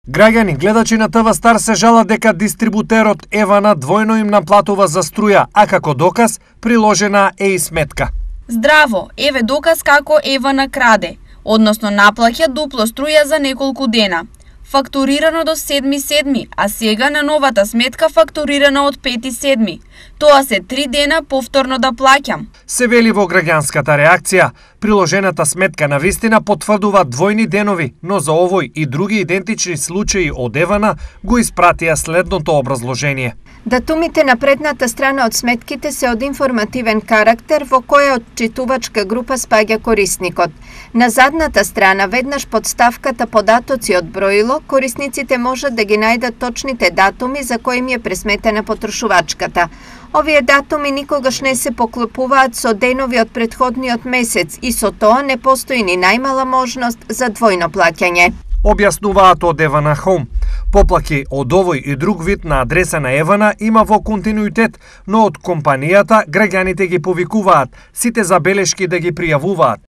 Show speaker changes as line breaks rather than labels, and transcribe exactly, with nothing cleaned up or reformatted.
Граѓани гледачи на ТВ Стар се жалат дека дистрибутерот Евана двојно им наплатува за струја, а како доказ приложена е и сметка.
Здраво, еве доказ како Евана краде, односно наплаќа дупло струја за неколку дена. Фактурирано до седми седми, а сега на новата сметка фактурирана од пети седми. Тоа се три дена повторно да плаќам.
Се вели во граѓанската реакција. Приложената сметка на вистина потврдува двојни денови, но за овој и други идентични случаи од Евана го испратија следното образложение.
Датумите на предната страна од сметките се од информативен карактер во која отчитувачка група спаѓа корисникот. На задната страна, веднаш под ставката податоци од броило, корисниците можат да ги најдат точните датуми за кои им е пресметена потрошувачката. Овие датуми никогаш не се поклопуваат со денови од претходниот месец и со тоа не постои ни најмала можност за двојно плаќање.
Објаснуваат од Евана Home. Поплаки од овој и друг вид на адреса на Евана има во континуитет, но од компанијата граѓаните ги повикуваат, сите забелешки да ги пријавуваат.